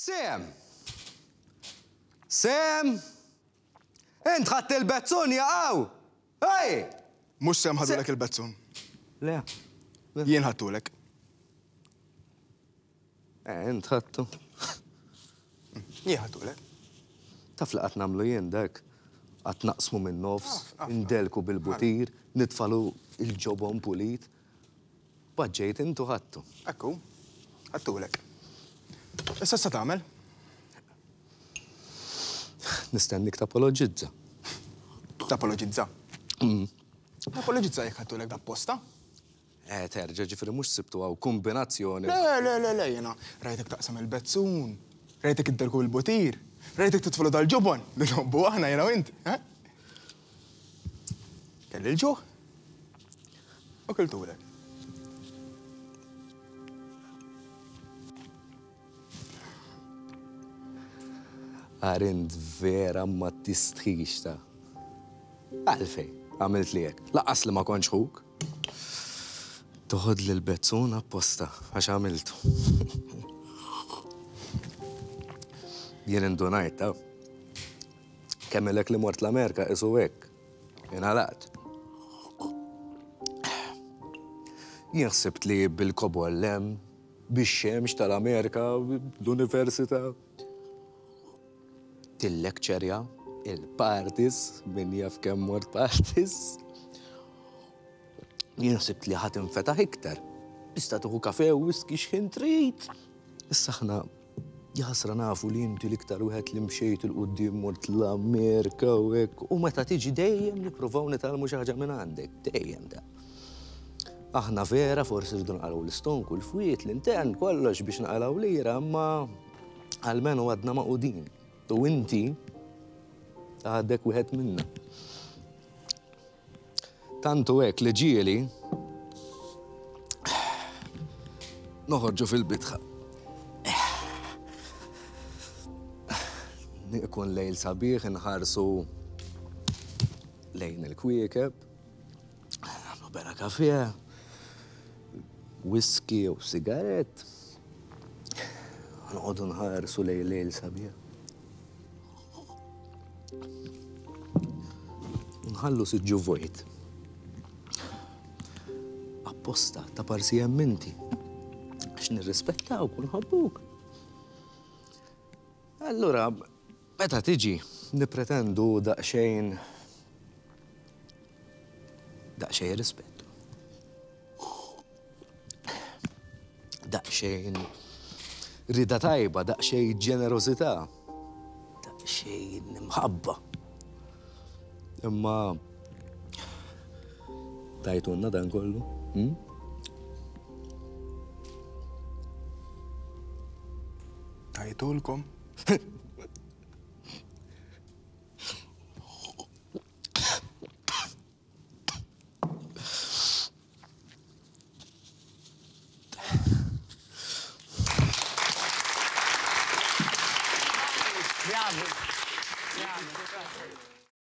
Sam! Sam! Int ħadt il-bezzun jaqaw! Ej! Mhux Sam ħadulek il-bezzun. Le. Jien ħadtulek. Eh, int ħadtu. Jien ħadtulek. Taf li qatt nagħmlu jien dak? Qatt naqsmu minn nofs, indelku bil-butir, nitfalu il-ġobon pulit. Paġġejt int u ħadtu. Hekk hu. Ħadtulek. Issa x'se tagħmel? Nistennik tapoloġizza. Tapoloġizza? Mm. Tapoloġizza jekk ħadtulek d'apposta? Eh, terġa' ġifieri mhux sibtu hawn kombinazzjoni. Le, le, le, le, jiena rajtek taqsam il-bezzun, rajtek iddelku bil-butir, rajtek titflu dal-ġobon li nħobbu aħna jiena u int. Eh? Kelli l-ġuħ u kiltulek. Għar int vera ma tistħix ta. Għalfej, għamilt li hekk. Laqqas li ma kontx ħuk. Toħod lil bezzun apposta għax għamiltu. Jien indunajt ta. Kemm ilek li mort l-Amerika qisu hekk. Ingħalaqt. Jien ħsibt li bil-kobor l-hemm, bix-xemx tal-Amerika, l-università. Tillekċerja, il-parties, min jaf kemm mort parties. Jien ħsibt li ħa tinfetaħ iktar. Tista' tieħu kafe u whisky x'ħin trid. Issa aħna Jaħasra nafu li inti l-iktar wieħed li mxejt 'il quddiem mort l-Amerika u hekk, u meta tiġi dejjem nippruvaw nitgħallmu xi ħaġa minn għandek, dejjem da. Aħna vera forsi rridu naqalgħu l-istonku, l-fwiet, l-intern, kollox biex naqalgħu lira, imma almenu għadna magħqudin. U inti għadek wieħed minna. Tant hu hekk li ġieli noħorġu fil-bitħa. Ikun lejl sabiħ inħarsu lejn il-kwiekeb, nagħmlu bera kafe, whisky u sigarett, noqogħdu nħarsu lejn lejl sabiħ. Nħallu siġġu vojt. Apposta ta' parsi hemm inti. Għax nirrispettawk u nħobbuk. Allura, meta tiġi, nippretendu daqsxejn daqsxejn rispett. Daqsxejn rida tajba, daqsxejn ġenerożità, daqsxejn imħabba. Imma tajtunna dan kollu? Hmm? Tajtulkom? Bravi. Bravi.